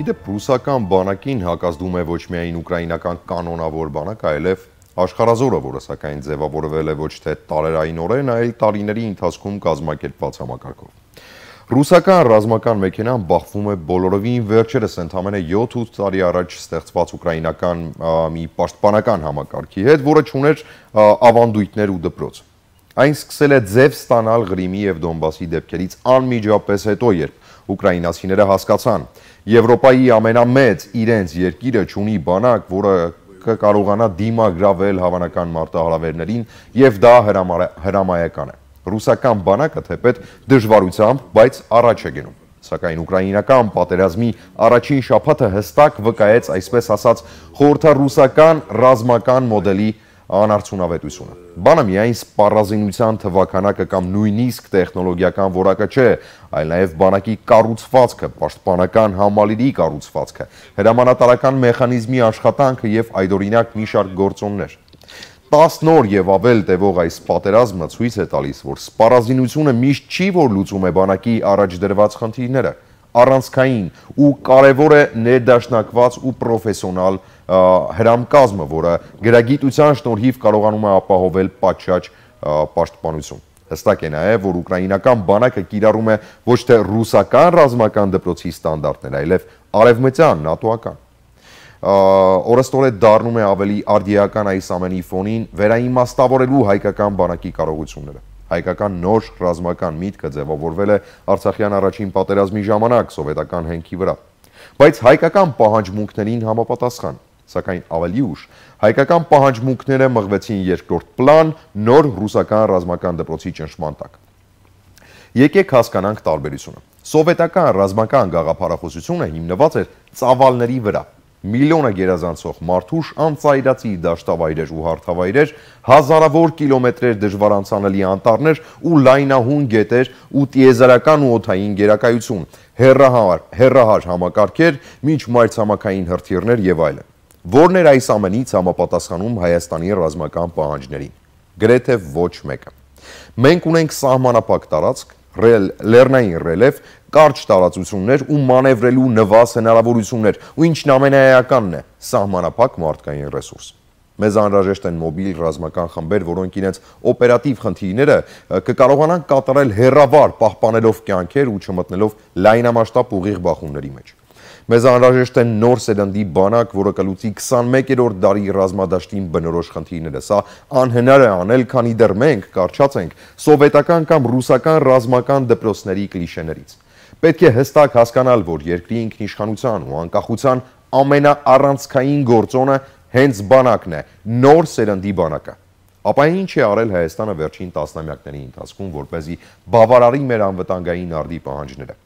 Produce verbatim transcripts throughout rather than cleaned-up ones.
Իդեպ ռուսական բանակին հակազդում է ոչ միայն ուկրաինական կանոնավոր բանակ, այլև աշխարհազորը, որը սակայն ձևավորվել է ոչ թե տարերայինորեն, այլ տարիների ընթացքում կազմակերպված համակարգով։ Ռուսական ռազմական մեքենան բախվում է բոլորովին վերջերս ընդամենը յոթ-ութ տարի առաջ ստեղծված ուկրաինական մի պաշտպանական համակարգի հետ, որը չուներ ավանդույթներ ու դպրոց։ Այն սկսել է ձև ստանալ Ղրիմի և Դոնբասի դեպքերից անմիջապես հետո, երբ ուկրաինացիները հասկացան, Եվրոպայի ամենամեծ իրենց երկիրը չունի բանակ, որը կկարողանա դիմագրավել հավանական մարտահրավերներին, և դա հրամայական է։ Ռուսական բանակը թեպետ դժվարությամբ, բայց առաջ է գնում։ Սակայն ուկրաինական պատերազմի առաջին շաբաթը հստակ վկայեց, այսպես ասած, խորհրդառուսական ռազմական մոդելի անարդյունավետությունը։ Բանը միայն սպառազինության թվաքանակը կամ նույնիսկ տեխնոլոգիական որակը չէ, այլ նաև բանակի կառուցվածքը, պաշտպանական համալիրի կառուցվածքը, հրամանատարական մեխանիզմի աշխատանքը և այդօրինակ մի շարք գործոններ։ տասն օր և ավել տևող այս պատերազմը ցույց է տալիս, որ սպառազինությունը միշտ չի, որ լուծում է բանակի առաջ դրված խնդիրները, առանցքային ու կարևոր է ներդաշնակված ու պրոֆեսիոնալ հրամկազմը, որը գրագիտության շնորհիվ կարողանում է ապահովել պատշաճ պաշտպանություն։ Հստակ է նաև, որ ուկրաինական բանակը կիրառում է ոչ թե ռուսական ռազմական դպրոցի ստանդարտներ, այլև արևմտյան, նատոական։ Օրըստօրե դառնում է ավելի արդիական այս ամենի ֆոնին վերաիմաստավորելու հայկական բանակի կարողությունները։ Հայկական նոր ռազմական միտքը ձևավորվել է Արցախյան առաջին պատերազմի ժամանակ սովետական հենքի վրա, բայց հայկական պահանջմունքներին համապատասխան, սակայն ավելի ուշ հայկական պահանջմունքները մղվեցին երկրորդ պլան նոր ռուսական ռազմական դպրոցի ճնշման տակ։ Եկեք հասկանանք տարբերությունը։ Սովետական ռազմական գաղափարախոսությունը հիմնված էր ծավալների վրա։ Միլիոնը գերազանցող մարդուժ, անծայրածի դաշտավայրեր ու հարթավայրեր, հազարավոր կիլոմետրեր դժվար անցանելի անտառներ ու լայնահուն գետեր ու տիեզերական ու օդային գերակայություն, հեռահար, հեռահար համակարգեր, մինչ մայրցամաքային հրթիռներ եւ այլն։ Որն էր այս ամենից համապատասխանում Հայաստանի ռազմական պահանջներին։ Գրեթե ոչ մեկը։ Մենք ունենք սահմանափակ տարածք, լեռնային ռելիեֆ, կարճ տարածություններ ու մանևրելու նվազ հնարավորություններ, ու ինչն ամենաէականն է, սահմանափակ մարդկային ռեսուրս։ Մեզ անհրաժեշտ են մոբիլ ռազմական խմբեր, որոնք իրենց օպերատիվ խնդիրները կկարողանան կատարել հեռավար, պահպանելով կյանքեր ու չմտնելով լայնամասշտաբ ուղիղ բախումների մեջ։ Մեզ անհրաժեշտ է նոր սերնդի բանակ, որը կլուծի քսանմեկերորդ դարի ռազմադաշտին բնորոշ խնդիրները։ Սա անհնար է անել, քանի դեռ մենք կարճած ենք սովետական կամ ռուսական ռազմական դպրոցների կլիշեներից։ Պետք է հստակ հասկանալ, որ երկրի ինքնիշխանության ու անկախության ամենաառանցքային գործոնը հենց բանակն է, նոր սերնդի բանակը։ Ապա ինչ է արել Հայաստանը վերջին տասնամյակների ընթացքում, որպեսզի բավարարի մեր անվտանգային արդի պահանջները։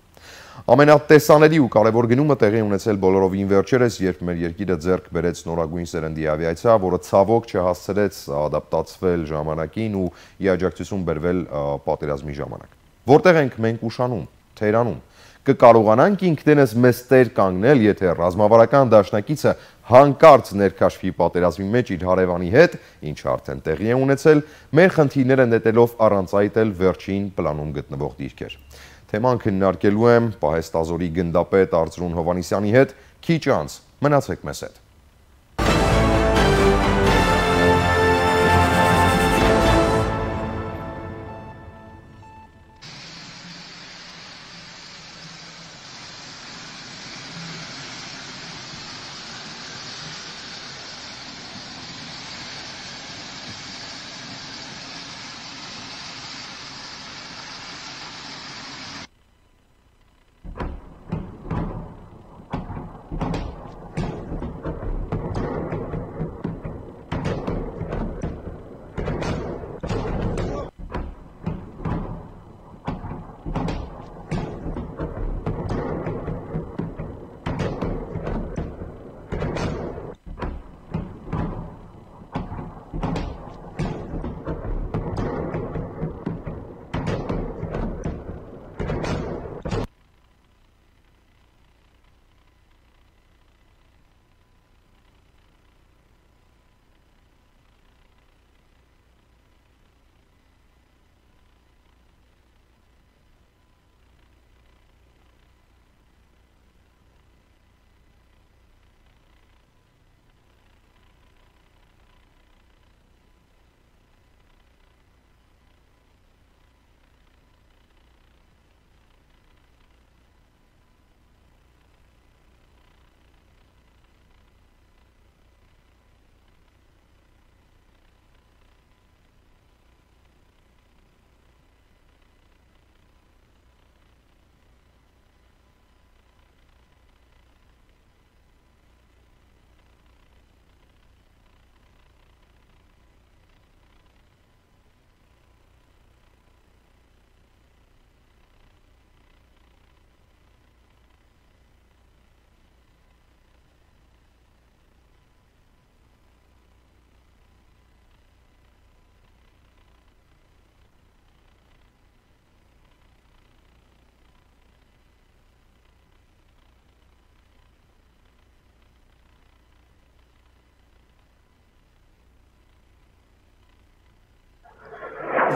Ամենատեսանելի ու կարևոր գնումը տեղի ունեցել բոլորովին վերջերս, երբ մեր երկիրը ձեռք բերեց նորագույն սերնդի ավիացիա, որը ցավոք չհասցրեց ադապտացվել ժամանակին ու ի աջակցություն բերվել պատերազմի ժամանակ։ Որտեղ ենք մենք ուշանում, թերանում։ Կկարողանանք ինքներս մեզ տեր կանգնել, եթե ռազմավարական դաշնակիցը հանկարծ ներքաշվի պատերազմի մեջ իր հարևանի հետ, ինչը արդեն տեղի է ունեցել, մեր խնդիրները նետելով առանց այդ էլ վերջին պլանում գտնվող դիրքեր։ Թեման քննարկելու եմ պահեստազորի գնդապետ Արծրուն Հովհաննիսյանի հետ քիչ անց, մնացեք մեզ հետ։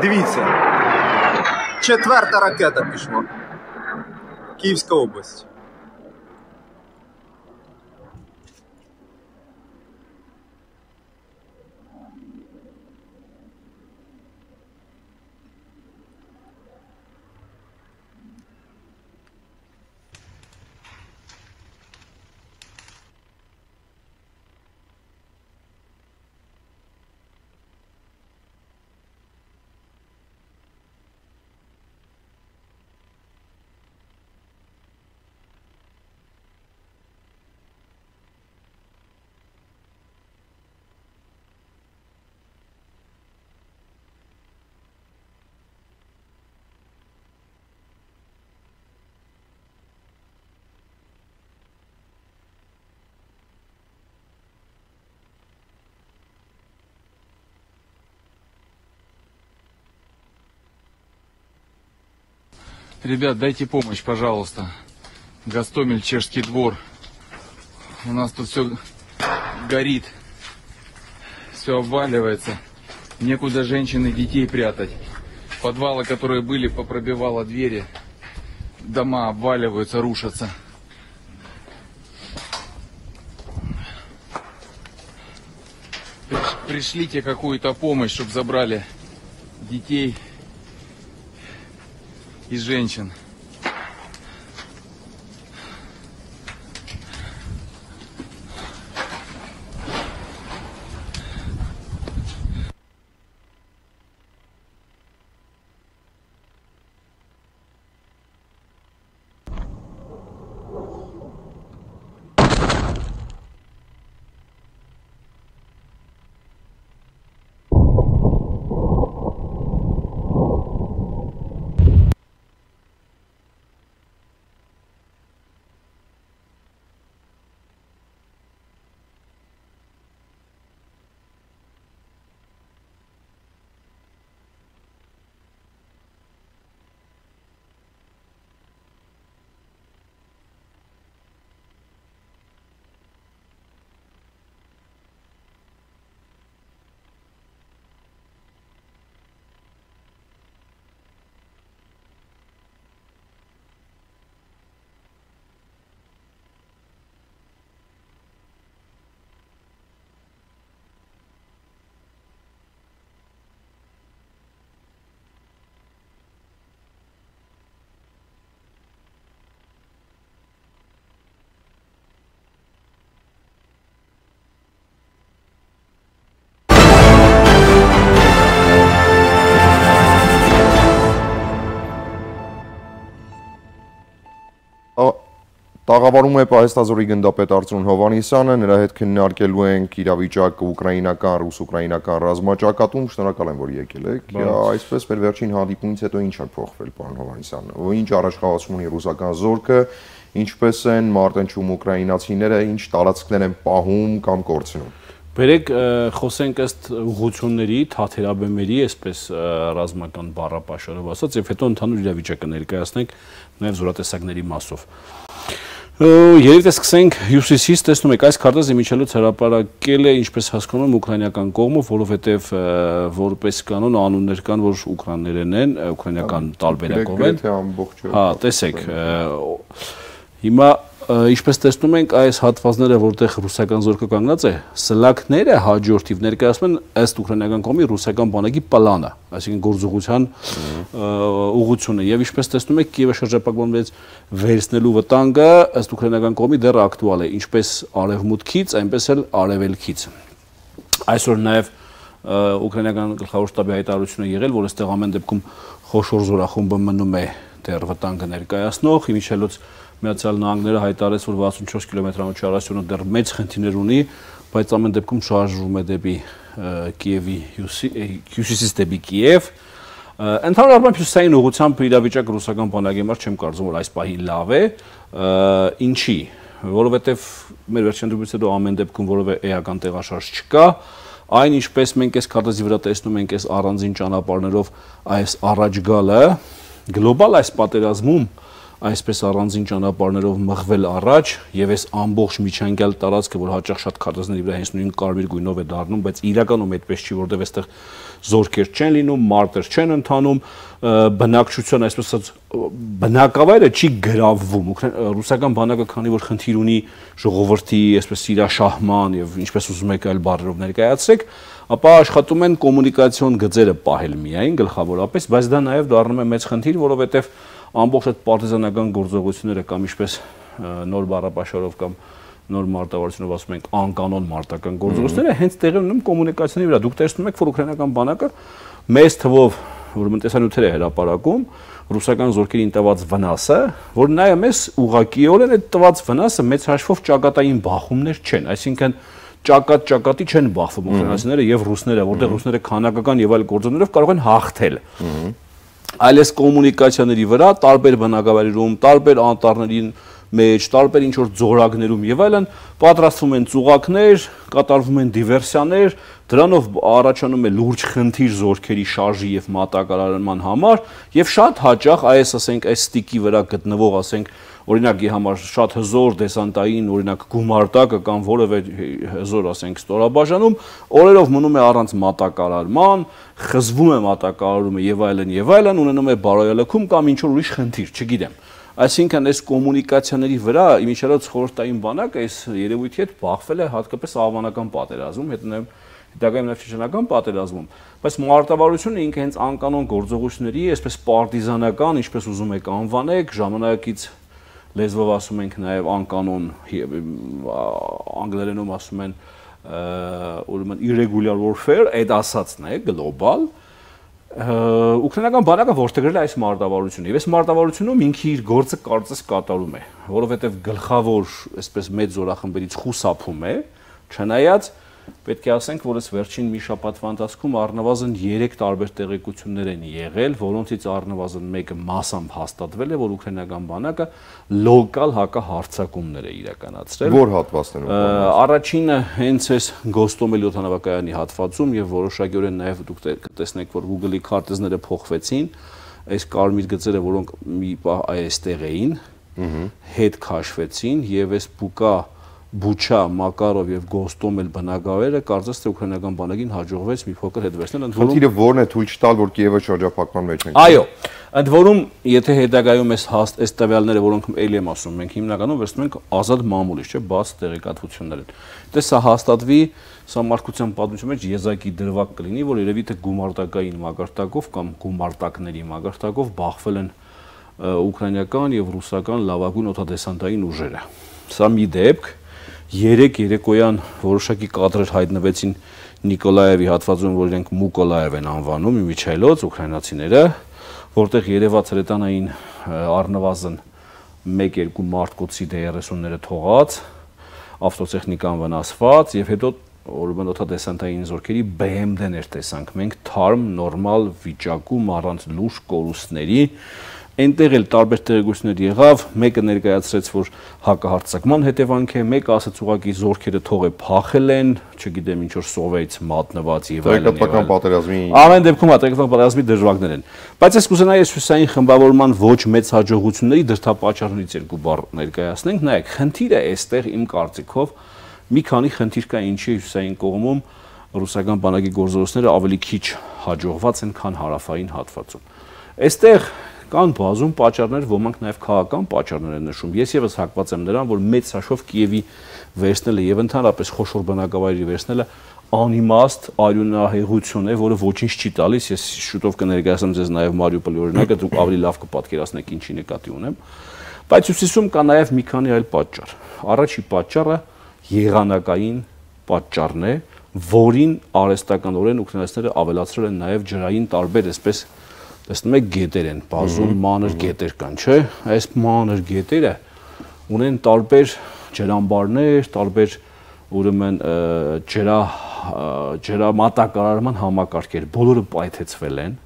Дивіться. Четверта ракета пішла. Київська область. Ребят, дайте помощь, пожалуйста. Гостомель, Чешский двор. У нас тут все горит. Все обваливается. Некуда женщин и детей прятать. Подвалы, которые были, попробивало двери. Дома обваливаются, рушатся. Пришлите какую-то помощь, чтобы забрали детей и женщин. Տաղավարում է Պահեստազորի գնդապետ Արծրուն Հովհաննիսյանը, նրա հետ քննարկելու ենք իրավիճակը ուկրաինական, ռուս-ուկրաինական ռազմաճակատում, շնորհակալ եմ, որ եկել եք։ Այսպես մեր վերջին հանդիպումից հետո ինչ է փոխվել, պարոն Հովհաննիսյան, ինչ առաջխաղացում ունի ռուսական զորքը, ինչպես են մարտնչում ուկրաինացիները, ինչ տարածքներ են պահում կամ կորցնում։ Բերեք խոսենք ըստ ուղղությունների, թաթերաբեմերի, այսպես ռազմական բառապաշարով ասած, եւ հետո ընդհանուր իրավիճակը ներկայացնենք նաեւ զորատեսակների մասով։ Երբ սկսենք հյուսիսից, տեսնում եք, այս քարտեզը միջելուց հրապարակել է, ինչպես հասկանում եմ, ուկրաինական կողմով, որովհետև որպես կանոն անուններ կան, որ ուկրաիներեն են, ուկրաինական տարբերակով են։ Հա, տեսեք, հիմա ինչպես տեսնում ենք, այս հատվածները, որտեղ ռուսական զորքը կանգնած է, սլաքները հաջորդիվ ներկայացնում են ըստ ուկրաինական կողմի ռուսական բանակի պլանը, այսինքն գործողության ուղղությունը, եւ ինչպես տեսնում եք, Կիևը շրջապատված վերցնելու վտանգը ըստ ուկրաինական կողմի դեռ ակտուալ է, ինչպես արևմուտքից, այնպես էլ արևելքից։ Այսօր նաեւ ուկրաինական գլխավոր շտաբի հայտարարությունը եղել, որ այստեղ ամեն դեպքում խոշոր զորախումբը մնում է դեռ վտանգը ներկայացնող, Միչելոց Միացյալ Նահանգները հայտարարեց, որ վաթսունչորս կիլոմետրանոց շարժությունը դեռ մեծ խնդիրներ ունի, բայց ամեն դեպքում շարժվում է դեպի Կիևի հյուսիսից դեպի Կիև։ Ընդհանուր առմամբ հյուսիսային ուղղությամբ իրավիճակը ռուսական բանակի համար չեմ կարծում, որ այս պահին լավ է, ինչի, որովհետև մեր վերջին դեպքից հետո ամեն դեպքում որևէ էական տեղաշարժ չկա, այն ինչպես մենք այս քարտեզի վրա տեսնում ենք այս առանձին ճանապարհներով այս առաջ գալը գլոբալ այս պատերազմում այսպես առանձին ճանապարհներով մղվել առաջ եւ այս ամբողջ միջանկյալ տարածքը, որ հաճախ շատ քարտեզների վրա հենց նույն կարմիր գույնով է դառնում, բայց իրականում այդպես չի, որտեղ այստեղ զորքեր չեն լինում, մարտեր չեն ընթանում, բնակչության այսպես ասած բնակավայրը չի գրավվում։ Ռուսական բանակը քանի որ խնդիր ունի ժողովրդի այսպես իրաշահման եւ ինչպես ուզում եք այլ բառերով ներկայացրեք, ապա աշխատում են կոմունիկացիոն գծերը պահել միայն գլխավորապես, բայց դա նաեւ դառնում է մեծ խնդիր, որովհետեւ ամբողջ այդ պարտիզանական գործողությունները կամ ինչպես նոր բառապաշարով կամ նոր մարտավարությունով ասում ենք անկանոն մարտական գործողությունները հենց տեղի ունեն կոմունիկացիայի վրա։ Դուք տեսնում եք, որ ուկրաինական բանակը մեծ թվով որ տեսանյութեր է հրապարակում ռուսական զորքերին տված վնասը, որ նայում ես ուղղակիորեն այդ տված վնասը մեծ հաշվով ճակատային բախումներ չեն, այսինքն ճակատ-ճակատի չեն բախվում ուկրաինացիները եւ ռուսները, որտեղ ռուսները քանակական եւ այլ գործոններով կարող են հաղթել։ Այլ այս կոմունիկացիաների վրա տարբեր բնակավայրերում, տարբեր անտառների մեջ, տարբեր ինչ-որ ձորակներում եւ այլն պատրաստվում են ծուղակներ, կատարվում են դիվերսիաներ, դրանով առաջանում է լուրջ խնդիր զորքերի շարժի եւ մատակարարման համար եւ շատ հաճախ այս ասենք այս ստիկի վրա գտնվող ասենք օրինակի համար շատ հզոր դեսանտային օրինակ գումարտակը կամ որևէ հզոր ասենք ստորաբաժանում օրերով մնում է առանց մատակարարման, խզվում է մատակարարումը եւ այլն եւ այլն, ունենում է բարոյալքում կամ ինչ որ ուրիշ խնդիր, չգիտեմ։ Այսինքն այս կոմունիկացիաների վրա իմիջիայլոց խորհրդային բանակը այս երևույթի հետ բախվել է հատկապես աղվանական պատերազմում, հետո հետագայում նաև չեչենական պատերազմում, բայց մարտավարությունը ինքը հենց անկանոն գործողությունների, այսպես պարտիզանական, ինչպես ուզում եք անվանեք, ժամանակից լեզվով ասում ենք նաև անկանոն, անգլերենում ասում են ուրեմն irregular warfare, այդ ասածն է, գլոբալ, ուկրաինական բանակը որդեգրել է այս մարտավարությունը, եւ այս մարտավարությունում ինքը իր գործը կարծես կատարում է, որովհետեւ գլխավոր, այսպես մեծ զորախմբերից խուսափում է, չնայած պետք է ասենք, որ այս վերջին մի շաբաթվա ընթացքում առնվազն երեք տարբեր տեղեկություններ են եղել, որոնցից առնվազն մեկը մասամբ հաստատվել է, որ ուկրաինական բանակը լոկալ հակահարձակումներ է իրականացրել։ Որ հատվածներում։ Առաջինը հենց այս Գոստոմելի օդանավակայանի հատվածում եւ որոշակիորեն նաեւ դուք կտեսնեք, որ Google-ի քարտեզները փոխվեցին, այս կարմիր գծերը, որոնք մի պահ այստեղ էին, հետ քաշվեցին եւ այս Բուկա Բուչա, Մակարով եւ Գոստոմել բնակավայրը կարծես թե ուկրաինական բանակին հաջողվեց մի փոքր հետ վերցնել, ընդ որում Խնդիրը ո՞րն է թույլ չտալ, որ Կիևը շրջափակման մեջ ենք։ Այո, ընդ որում, եթե հետագայում այս հաստ այս տվյալները, որոնք էլի եմ ասում, մենք հիմնականում վերցնում ենք ազատ մամուլից, չէ, բաց տեղեկատվություններ են։ Դե սա հաստատվի, սա մարդկության պատմության մեջ եզակի դրվագ կլինի, որ երևի թե գումարտակային մագարտակով կամ գումարտակների մագարտակով բախվել են ուկրաինական եւ ռուսական լավագույն օդադեսանտային ուժերը։ Սա մի դեպք Երեք երեկոյան որոշակի կադրեր հայտնվեցին Նիկոլաևի հատվածում, որ իրենք Մուկոլաև են անվանում, իմիջիայլոց ուկրաինացիները, որտեղ երևաց հրետանային առնվազն մեկ-երկու մարդկոցի դե երեսունները թողած, ավտոտեխնիկան վնասված եւ հետո ուրեմն օդադեսանտային զորքերի B M D-ներ տեսանք մենք թարմ նորմալ վիճակում առանց լուրջ կորուստների Այնտեղ էլ տարբեր տեղեկություններ եղավ, մեկը ներկայացրեց, որ հակահարձակման հետևանք է, մեկը ասաց ուղղակի զորքերը թողե փախել են, չգիտեմ ինչ որ սովեից մատնված եւ այլն։ Տեղեկատվական պատերազմի Ամեն դեպքում տեղեկատվական պատերազմի դժվարներ են։ Բայց ես կուզենայի այս հյուսային խմբավորման ոչ մեծ հաջողությունների դրդապատճառներից երկու բառ ներկայացնենք։ Նայեք, խնդիրը այստեղ իմ կարծիքով մի քանի խնդիր կա, ինչի հյուսային կողմում ռուսական բանակի գործողությունները ավելի քիչ հաջողված են, քան հարավային հատվածում։ Այստեղ կան բազում պատճառներ, ոմանք նաև քաղաքական պատճառներ են նշում։ Ես եւս հակված եմ նրան, որ մեծ հաշվով Կիևի վերցնելը եւ ընդհանրապես խոշոր բնակավայրի վերցնելը անիմաստ արյունահեղություն է, որը ոչինչ չի տալիս։ Ես շուտով կներկայացնեմ ձեզ նաև Մարիուպոլի օրինակը, դուք ավելի լավ կպատկերացնեք ինչի նկատի ունեմ։ Բայց հյուսիսում կա նաև մի քանի այլ պատճառ։ Առաջի պատճառը եղանակային պատճառն է, որին արհեստականորեն ուկրաինացիները ավելացրել են նաև ջրային տարբեր, այսպես տեսնում եք գետեր են, բազում մանր գետեր կան, չէ՞։ Այս մանր գետերը ունեն տարբեր ջրամբարներ, տարբեր ուրեմն ջրա ջրամատակարարման համակարգեր, բոլորը պայթեցվել են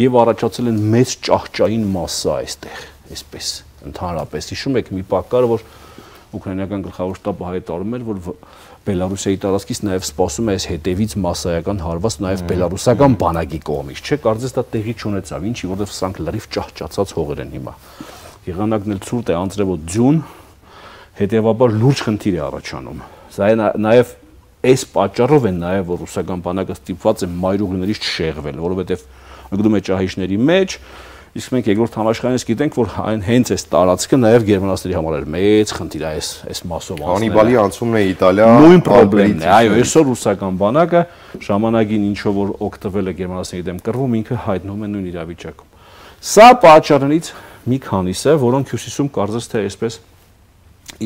եւ առաջացել են մեծ ճահճային մասսա այստեղ, այսպես ընդհանրապես։ Հիշում եք մի պակար, որ ուկրաինական գլխավոր շտաբը հայտարարում էր, որ Բելարուսիայի տարածքից նաև սպասում է այս հետևից մասսայական հարված նաև բելարուսական բանակի կողմից, չէ՞, կարծես դա տեղի չունեցավ, ինչի որովհետև սրանք լրիվ ճահճացած հողեր են հիմա։ եղանակն էլ ցուրտ է, անձրևոտ ձյուն, հետևաբար լուրջ խնդիր է առաջանում։ Սա նաև այս պատճառով են նաև որ ռուսական բանակը ստիպված է մայրուղիներից չշեղվել, որովհետև ընկնում է ճահիճների մեջ, իսկ մենք երկրորդ համաշխարհից գիտենք, որ այն հենց այս տարածքը նաև գերմանացիների համար էր մեծ խնդիր այս այս մասով անցնել։ Հանիբալի անցումն է Իտալիա, նույն խնդիրն է։ Այո, այսօր ռուսական բանակը ժամանակին ինչով որ օգտվել է գերմանացիների դեմ կռվում, ինքը հայտնվում է նույն իրավիճակում։ Սա պատճառներից մի քանիսը, որոնք հյուսիսում կարծես թե այսպես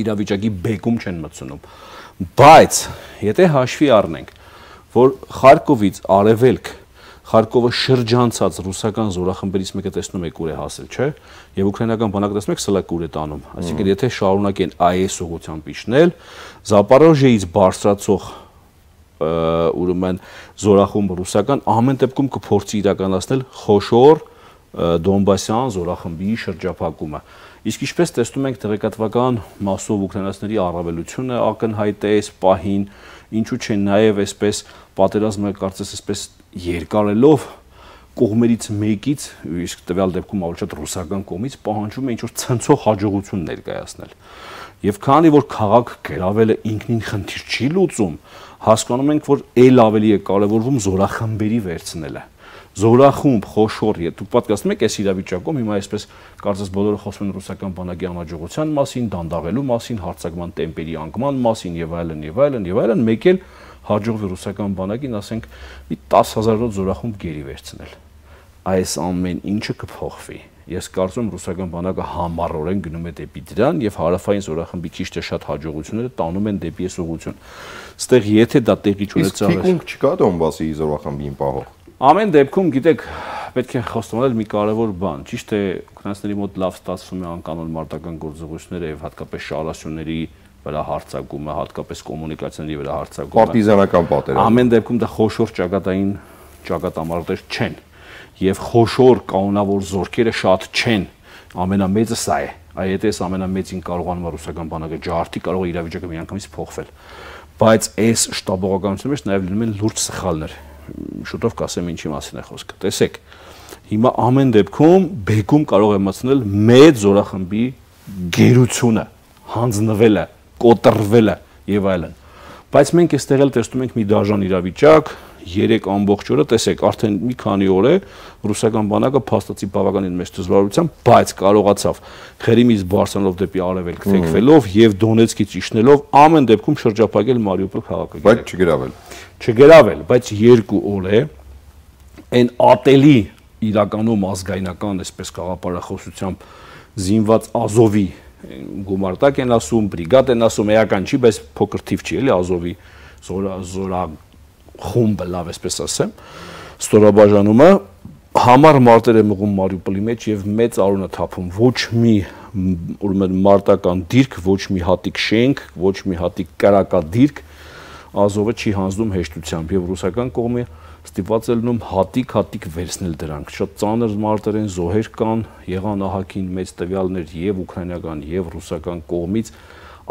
իրավիճակի բեկում չեն մտցնում։ Բայց եթե հաշվի առնենք, որ Խարկովից արևելք Խարկովը շրջանցած ռուսական զորախմբերից մեկը տեսնում եք ուր է հասել, չէ՞, եւ ուկրաինական բանակը տեսնում եք սլակ ուր է տանում։ Այսինքն եթե շարունակեն այս ուղղությամբ իջնել, Զապորոժիեից բարձրացող ուրեմն զորախումբը ռուսական ամեն դեպքում կփորձի իրականացնել խոշոր Դոնբասյան զորախմբի շրջափակումը։ Իսկ ինչպես տեսնում ենք տեղեկատվական մասով ուկրաինացիների առավելությունը ակնհայտ է այս պահին, ինչու՞ չէ նաև այսպես պատերազմը կարծես այսպես երկարելով կողմերից մեկից, իսկ տվյալ դեպքում ավելի շատ ռուսական կողմից պահանջում է ինչ-որ ցնցող հաջողություն ներկայացնել։ Եվ քանի որ քաղաք գրավելը ինքնին խնդիր չի լուծում, հասկանում ենք, որ ել ավելի է կարևորվում զորախմբերի վերցնելը։ Զորախումբ, խոշոր, դուք պատկերացնում եք այս իրավիճակում հիմա այսպես կարծես բոլորը խոսում են ռուսական բանակի անհաջողության մասին, դանդաղելու մասին, հարձակման տեմպերի անկման մասին եւ այլն եւ այլն եւ այլն, մեկ էլ հաջողվի ռուսական բանակին, ասենք, մի տասը հազարով զորախումբ գերի վերցնել։ Այս ամեն ինչը կփոխվի։ Ես կարծում եմ ռուսական բանակը համառորեն գնում է դեպի դրան եւ հարավային զորախմբի քիչ թե շատ հաջողությունները տանում են դեպի այս ուղղություն։ Ստեղ եթե դա տեղի չունեցավ, իսկ թիկունք չկա Դոնբասի զորախմբին պահող։ Ամեն դեպքում, գիտեք, պետք է խոստովանել մի կարևոր բան, ճիշտ է, ուկրաինացիների մոտ լավ ստացվում է անկանոն մարտական գործողությունները եւ հատկապես շարասյունների վրա հարձակումը, հատկապես կոմունիկացիաների վրա հարձակումը։ Պարտիզանական պատերազմ։ Ամեն դեպքում դա խոշոր ճակատային ճակատամարտեր չեն եւ խոշոր կանոնավոր զորքերը շատ չեն։ Ամենամեծը սա է։ Այ եթե այս ամենամեծին կարողանում է ռուսական բանակը ջարդի, կարող է իրավիճակը միանգամից փոխվել։ Բայց այս շտաբողականության մեջ նաեւ լինում են լուրջ սխալներ։ Շուտով կասեմ ինչի մասին է խոսքը։ Տեսեք, հիմա ամեն դեպքում բեկում կարող է մտցնել մեծ զորախմբի գերությունը, հանձնվելը, կոտրվելը եւ այլն։ Բայց մենք այստեղ էլ տեսնում ենք մի դաժան իրավիճակ, երեք ամբողջ օրը, տեսեք, արդեն մի քանի օր է ռուսական բանակը փաստացի բավականին մեծ դժվարությամբ, բայց կարողացավ Խերիմից բարձրանալով դեպի արևելք թեքվելով եւ Դոնեցկից իջնելով ամեն դեպքում շրջափակել Մարիուպոլ քաղաքը։ Բայց չգրավել։ Չգրավել, բայց երկու օր է այն ատելի իրականում ազգայնական, այսպես խաղապարախոսությամբ զինված Ազովի գումարտակ են ասում, բրիգադ են ասում, էական չի, բայց փոքր թիվ չի, էլի Ազովի զորա զորա խումբը, լավ այսպես ասեմ, ստորաբաժանումը համառ մարտեր է մղում Մարիուպոլի մեջ եւ մեծ արուն է թափում, ոչ մի ուրեմն մարտական դիրք, ոչ մի հատիկ շենք, ոչ մի հատիկ կրակադիրք Ազովը չի հանձնում հեշտությամբ եւ ռուսական կողմը ստիպված է լինում հատիկ-հատիկ վերցնել դրանք։ Շատ ծանր մարտեր են, զոհեր կան, եղան ահագին մեծ տվյալներ եւ ուկրաինական եւ ռուսական կողմից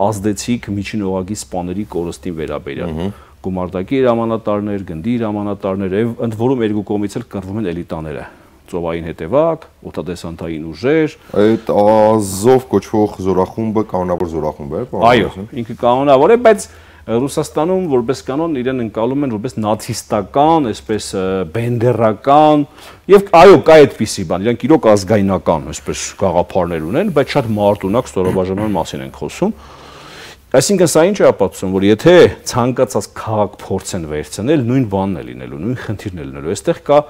ազդեցիկ միջին օղակի սպաների կորստին վերաբերյալ։ Գումարտակի հրամանատարներ, գնդի հրամանատարներ եւ ընդ որում երկու կողմից էլ կռվում են էլիտաները։ Ծովային հետևակ, օդադեսանտային ուժեր։ Այդ Ազով կոչվող զորախումբը կանոնավոր զորախումբ է, այո, ինքը կանոնավոր է, բայց Ռուսաստանում որպես կանոն իրեն ընկալում են որպես նացիստական, այսպես բենդերական եւ այո, կա այդպիսի բան, իրանք իրոք ազգայնական, այսպես գաղափարներ ունեն, բայց շատ մարտունակ ստորաբաժանման մասին են խոսում։ Այսինքն սա ինչ է ապացուցում, որ եթե ցանկացած քաղաք փորձեն վերցնել, նույն բանն է լինելու, նույն խնդիրն է լինելու։ Այստեղ կա,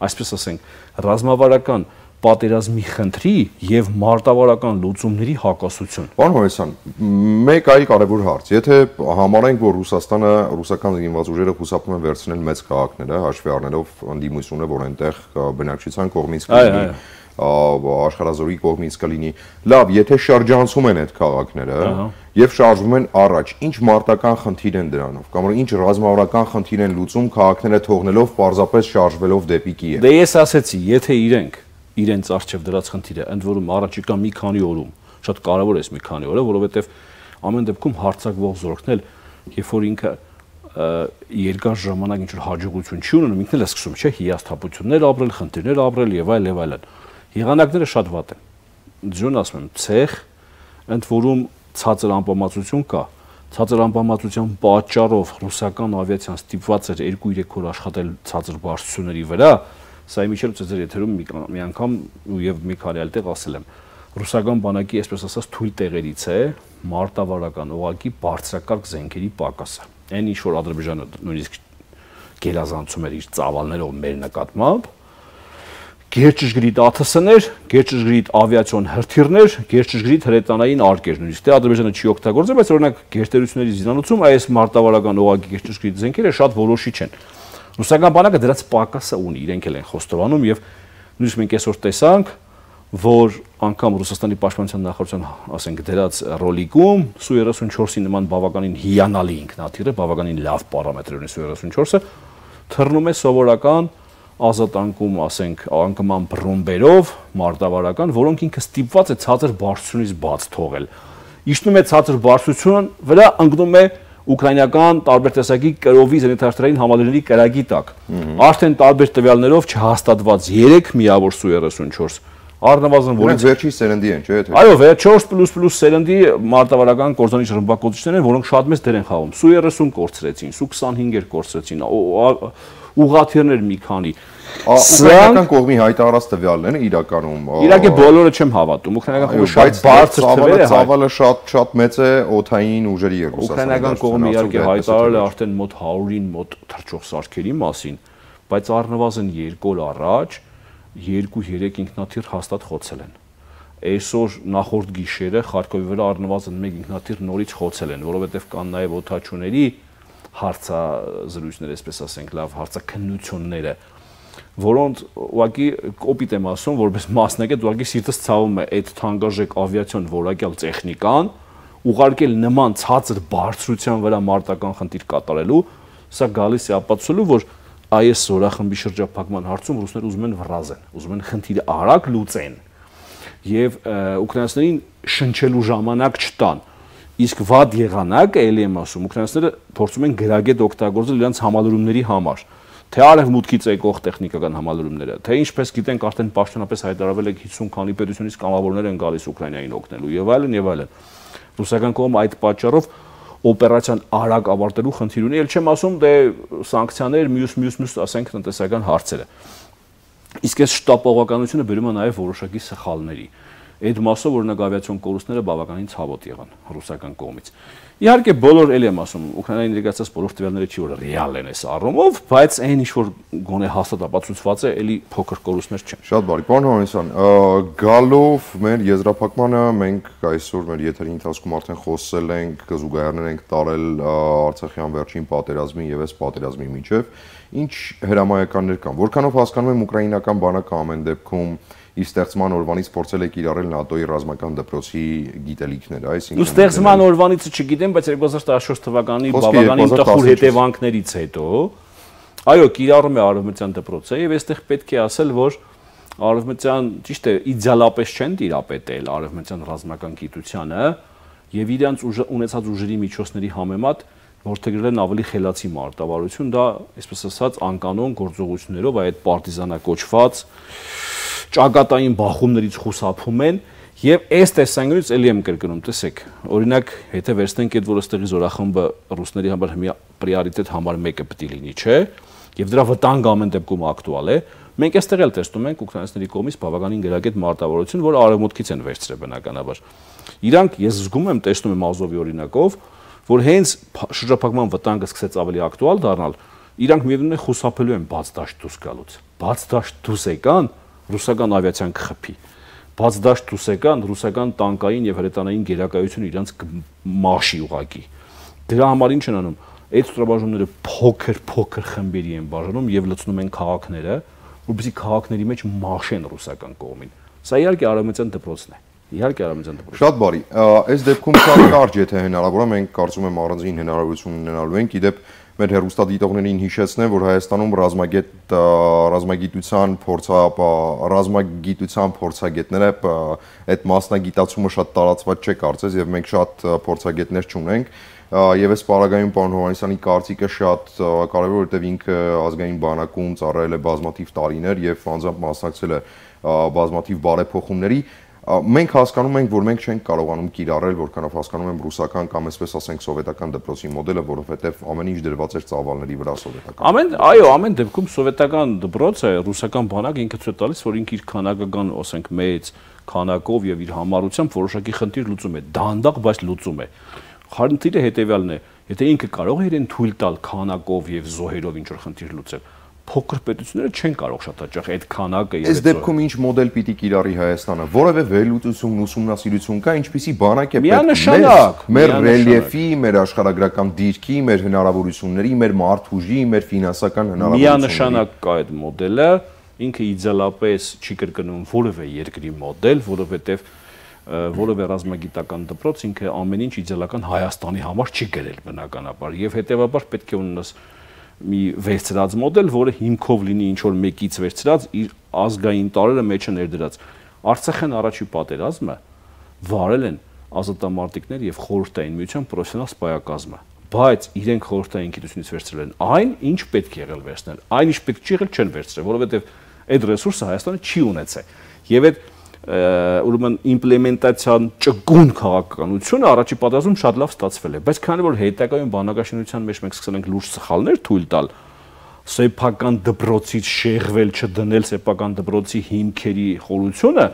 այսպես ասենք, ռազմավարական պատերազմի խնդրի եւ մարտավարական լուծումների հակասություն։ Պարոն Հովհաննիսյան, մեկ այլ կարևոր հարց։ Եթե համարենք, որ Ռուսաստանը, ռուսական զինված ուժերը խուսափում են վերցնել մեծ քաղաքները, հաշվի առնելով ընդդիմությունը, որ այնտեղ բնակչության կողմից կլինի, աշխարհազորի կողմից կլինի, լավ, եթե շրջանցում են այդ քաղաքները եւ շարժվում են առաջ, ինչ մարտական խնդիր են դրանով, կամ ինչ ռազմավարական խնդիր են լուծում քաղաքները թողնելով պարզապես շարժվելով դեպի Կիև։ Դե ես ասեցի, եթե իրենք իրենց արժեվ դրած խնդիրը, ընդ որում առաջիկա մի քանի օրում, շատ կարևոր է մի քանի օրը, որովհետև ամեն դեպքում հարձակվող զորքն էլ, երբ որ ինքը երկար ժամանակ ինչ-որ հաջողություն չի ունենում, ինքն էլ է սկսում, չէ, հիասթափություններ ապրել, խնդիրներ ապրել եւ այլ եւ այլն։ Եղանակները շատ վատ են։ ձյուն ասում եմ, ցեխ, ընդ որում ցածր անպամացություն կա։ Ցածր անպամացության պատճառով ռուսական ավիացիան ստիպված էր երկու երեք օր աշխատել ցածր բարձրությունների վրա, սա իմիջիայլ ձեր եթերում մի անգամ եւ մի քանի այլ տեղ ասել եմ։ Ռուսական բանակի, այսպես ասած, թույլ տեղերից է մարտավարական օղակի բարձրակարգ զենքերի պակասը։ Այն ինչ որ Ադրբեջանը նույնիսկ գերազանցում էր իր ծավալներով մեր նկատմամբ, գերճշգրիտ ա թ ս-ներ, գերճշգրիտ ավիացիոն հրթիռներ, գերճշգրիտ հրետանային արկեր, նույնիսկ դե Ադրբեջանը չի օգտագործել, բայց օրինակ գերտերությունների զինանոցում այս մարտավարական օղակի գերճշգրիտ զենքերը շատ որոշիչ են։ Ռուսական բանակը դրանց պակասը ունի, իրենք էլ են խոստովանում եւ նույնիսկ մենք այսօր տեսանք, որ անգամ Ռուսաստանի պաշտպանության նախարարության, ասենք, դրած ռոլիկում Սու երեսունչորսի նման բավականին հիանալի ինքնաթիռը, բավականին լավ պարամետրեր ունի Սու երեսունչորսը, թռնում է սովորական ազատանկում, ասենք, անկման բռունբերով մարտավարական, որոնք ինքը ստիպված է ցածր բարձրությունից բաց թողել։ Իջնում է ցածր բարձրություն վրա, ընկնում է ուկրաինական տարբեր տեսակի կրովի զենիթարթրային համալիրների կրակի տակ։ Արդեն տարբեր տվյալներով չհաստատված երեք միավոր Սու երեսունչորս առնվազն որոնց վերջի սերնդի են, չէ՞, թե։ Այո, չորս պլյուս պլյուս սերնդի մարտավարական կորզանիչ ռմբակոծիչներ են, որոնք շատ մեծ դեր են խաղում։ Սու երեսուն կորցրեցին, Սու քսանհինգեր կորցրեցին, ուղղաթիռներ մի քանի։ Ուկրաինական կողմի հայտարարած տվյալներն են իրականում։ Իհարկե բոլորը չեմ հավատում։ Ուկրաինական կողմը շատ բարձր թվեր է, ծավալը շատ շատ մեծ է օդային ուժերի երկուսը։ Ուկրաինական կողմը իհարկե հայտարարել է արդեն մոտ հարյուրին մոտ թռչող սարքերի մասին, բայց առնվազն երկու օր առաջ երկու-երեք ինքնաթիռ հաստատ խոցել են։ Այսօր նախորդ գիշերը Խարկովի վրա առնվազն մեկ ինքնաթիռ նորից խոցել են, որովհետև կան նաև օդաչուների հարցազրույցներ, այսպես ասենք, լավ հարցաքննությունները, որոնց ուղղակի կոպիտ եմ ասում, որպես մասնակից ուղղակի սիրտս ցավում է այդ թանկարժեք ավիացիոն որակյալ տեխնիկան ուղարկել նման ցածր բարձրության վրա մարտական խնդիր կատարելու, սա գալիս է ապացուցելու, որ այս զորախմբի շրջափակման հարցում ռուսները ուզում են վռազեն, ուզում են խնդիրը արագ լուծեն եւ ուկրաինացիներին շնչելու ժամանակ չտան։ Իսկ վատ եղանակը, ելի եմ ասում, ուկրաինացիները փորձում են գրագետ օգտագործել իրենց համալրումների համար, թե արևմուտքից եկող տեխնիկական համալրումները, թե ինչպես գիտենք արդեն պաշտոնապես հայտարարվել է հիսուն քանի պետությունից կամավորներ են գալիս Ուկրաինային օգնելու եւ այլն եւ այլն։ Ռուսական կողմը այդ պատճառով օպերացիան արագ ավարտելու խնդիր ունի, ել չեմ ասում դե սանկցիաներ, մյուս մյուս մյուս ասենք տնտեսական հարցերը։ Իսկ այս շտապողականությունը բերում է նաև որոշակի սխալների։ Այդ մասով օրինակ ավիացիոն կորուստները բավականին ցավոտ եղան ռուսական կողմից։ Իհարկե բոլոր էլ եմ ասում, Ուկրաինայի ներկայացած բոլոր տվյալները չի որ ռեալ են այս առումով, բայց այն ինչ որ գոնե հաստատ ապացուցված է, էլի փոքր կորուստներ չեն։ Շատ բարի, պարոն Հովհաննիսյան, գալով մեր եզրափակմանը մենք այսօր մեր եթերի ընթացքում արդեն խոսել ենք, զուգահեռներ ենք տարել Արցախյան վերջին պատերազմի եւ այս պատերազմի միջև, ինչ հրամայականներ կան, որքանով հասկանում եմ ուկրաինական բանակը ամեն դեպքում իր ստեղծման օրվանից փորձել է կիրառել ՆԱՏՕ-ի ռազմական դպրոցի գիտելիքները, այսինքն ստեղծման օրվանից չգիտեմ, բայց երկու հազար տասնչորս թվականի բավականին տխուր հետևանքներից հետո այո, կիրառում է արևմտյան դպրոցը եւ այստեղ պետք է ասել, որ արևմտյան, ճիշտ է, իդեալապես չեն տիրապետել արևմտյան ռազմական գիտությանը եւ իրենց ունեցած ուժերի միջոցների համեմատ որթեգրել են ավելի խելացի մարտավարություն, դա, այսպես ասած, անկանոն գործողություններով այդ պարտիզանակոչված ճակատային բախումներից խուսափում են եւ այս տեսանկյունից էլի եմ կրկնում, տեսեք, օրինակ, եթե վերցնենք այդ որ այստեղի զորախմբը ռուսների համար հիմա պրիորիտետ համար մեկը պետք է լինի, չէ՞, եւ դրա վտանգը ամեն դեպքում ակտուալ է, մենք այստեղ էլ տեսնում ենք ուկրաինացիների կողմից բավականին գրագետ մարտավարություն, որը արևմուտքից են վերցրել բնականաբար։ Իրանք, ես զգում եմ, տեսնում եմ Ազովի օրինակով, որ հենց շրջափակման վտանգը սկսեց ավելի ակտուալ դառնալ, իրանք միևնույն է խուսափելու են բաց դաշտ դուրս գալուց։ Բաց դաշտ դուրս եկան, ռուսական ավիացիան կխփի։ Բաց դաշտ դուրս եկան, ռուսական տանկային եւ հրետանային գերակայությունը իրանց մաշի ուղակի։ Դրա համար ինչ են անում։ Այդ ստորաբաժանումները փոքր-փոքր խմբերի են բաժանում եւ լցնում են քաղաքները, որովհետեւ քաղաքների մեջ մաշեն ռուսական կողմին։ Սա իհարկե արևմտյան դպրոցն է։ Իհարկե արևմտյան դպրոցն է։ Շատ բարի։ Այս դեպքում շատ կարճ եթե հնարավոր է, մենք կարծում եմ առանձին հնարավորություն ունենալու ենք, իդեպ մեր հեռուստադիտողներին հիշեցնեմ, որ Հայաստանում ռազմագետ ռազմագիտության փորձապա ռազմագիտության փորձագետները այդ մասնագիտացումը շատ տարածված չէ կարծես եւ մենք շատ փորձագետներ չունենք եւ այս պարագայում պարոն Հովհաննիսյանի կարծիքը շատ կարեւոր է, որտեղ ինքը ազգային բանակում ծառայել է բազմաթիվ տարիներ եւ անձամբ մասնակցել է բազմաթիվ բարեփոխումների։ Մենք հասկանում ենք, որ մենք չենք կարողանում կիրառել, որքանով հասկանում եմ ռուսական կամ այսպես ասենք սովետական դպրոցի մոդելը, որովհետև ամեն ինչ դրված էր ծավալների վրա սովետական։ Ամեն, այո, ամեն դեպքում սովետական դպրոցը, ռուսական բանակը ինքը ցույց տալիս, որ ինքը իր քանակական, ասենք, մեծ քանակով եւ իր համառությամբ որոշակի խնդիր լուծում է, դանդաղ, բայց լուծում է։ Խնդիրը հետեւյալն է, եթե ինքը կարող է իրեն թույլ տալ քանակով եւ զոհերով ինչ որ խնդիր լուծել, փոքր պետությունները չեն կարող շատ հաճախ այդ քանակը եւ այս դեպքում ինչ մոդել պիտի կիրառի Հայաստանը, որևէ վերլուծություն, ուսումնասիրություն կա, ինչպիսի բանակ է պետք մեր ռելիեֆի, մեր աշխարհագրական դիրքի, մեր հնարավորությունների, մեր մարդուժի, մեր ֆինանսական հնարավորությունների։ Միանշանակ կա այդ մոդելը, ինքը իդեալապես չի կրկնում որևէ երկրի մոդել, որովհետեւ որևէ ռազմագիտական դպրոց ինքը ամեն ինչ իդեալական Հայաստանի համար չի գրել բնականաբար եւ հետեւաբար պետք է ունենաս մի վերցրած մոդել, որը հիմքով լինի ինչ որ մեկից վերցրած իր ազգային տարրերը մեջը ներդրած։ Արցախյան առաջի պատերազմը վարել են ազատամարտիկներ եւ խորհրդային միության պրոֆեսիոնալ սպայակազմը, բայց իրենք խորհրդային գիտությունից վերցրել են այն, ինչ պետք է եղել վերցնել, այն ինչ պետք չի եղել չեն վերցրել, որովհետեւ այդ ռեսուրսը Հայաստանը չի ունեցել։ Եվ այդ ուրեմն իմպլեմենտացիան ճկուն քաղաքականությունը առաջի պատերազմում շատ լավ ստացվել է, բայց քանի որ հետագայում բանակաշինության մեջ մենք սկսել ենք լուրջ սխալներ թույլ տալ, սեփական դպրոցից շեղվել չդնել սեփական դպրոցի հիմքերի խորությունը,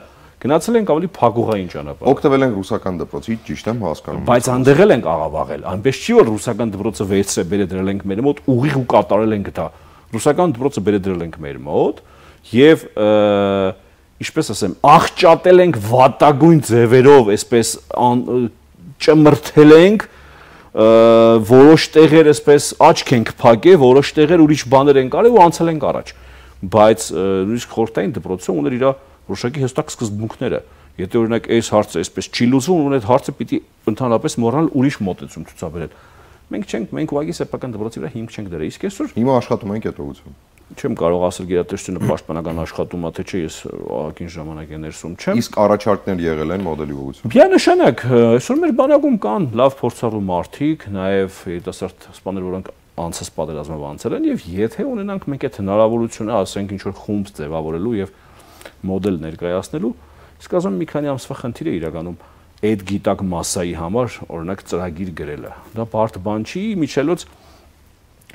գնացել ենք ավելի փակուղային ճանապարհ։ Օգտվել ենք ռուսական դպրոցից, ճիշտ եմ հասկանում։ Բայց անդեղել ենք աղավաղել, այնպես չի որ ռուսական դպրոցը վերցրել, բերել դրել ենք մեր մոտ, ուղիղ ու կատարել ենք դա։ Ռուսական դպրոցը բերել դրել ենք մեր մոտ եւ ինչպես ասեմ, աղճատել ենք վատագույն ձևերով, այսպես ճմրթել ենք, որոշ տեղեր այսպես աչք ենք փակել, որոշ տեղեր ուրիշ բաներ են կարել ու անցել ենք առաջ։ Բայց նույնիսկ խորհրդային դպրոցը ուներ իր որոշակի հստակ սկզբունքները։ Եթե օրինակ այս հարցը այսպես չի լուծվում, ուրեմն այդ հարցը պիտի ընդհանրապես մոռանալ ուրիշ մոտեցում ցուցաբերել։ Մենք չենք, մենք ուղղակի սեփական դպրոցի վրա հիմք չենք դրել։ Իսկ այսօր հիմա աշխատում ենք այդ ուղղությամբ։ Չեմ կարող ասել գերատեսչությունը պաշտպանական աշխատում է թե չէ, ես ահագին ժամանակի ներսում չեմ։ Իսկ առաջարկներ եղել են մոդելի ուղղությամբ։ Միանշանակ, այսօր մեր բանակում կան լավ փորձառու մարդիկ, նաև երիտասարդ սպաներ, որոնք անցած պատերազմով անցել են, եւ եթե ունենանք մենք այդ հնարավորությունը, ասենք ինչ որ խումբ ձևավորելու եւ մոդել ներկայացնելու, իսկ ասում մի քանի ամսվա խնդիր է իրականում այդ գիտակ մասսայի համար օրինակ ծրագիր գրելը։ Դա բարդ բան չի, միջելոց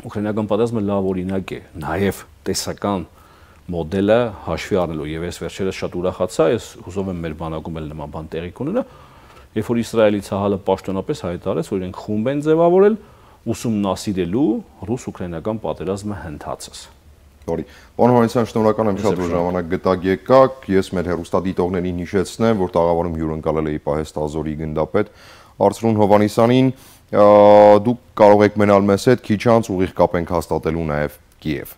ուկրաինական պատերազմը լավ օրինակ է, նաև տեսական մոդելը հաշվի առնելու եւ ես վերջերս շատ ուրախացա, ես հուսով եմ մեր բանակում էլ նման բան տեղի կունենա, երբ որ Իսրայելի ցահալը պաշտոնապես հայտարարեց, որ իրենք խումբ են ձևավորել ուսումնասիրելու ռուս-ուկրաինական պատերազմը հնդածս։ Sorry, պարոն Հովհաննիսյան, շնորհակալ եմ շատ, որ ժամանակ գտաք եկաք, ես մեր հեռուստադիտողներին հիշեցնեմ, որ տաղավարում հյուրընկալել էի Պահեստի ազորի գնդապետ Արծրուն Հովհաննիսյանին, դուք կարող եք մնալ մեզ հետ, քիչ անց ուղիղ կապ ենք հաստատելու նաև Կիև։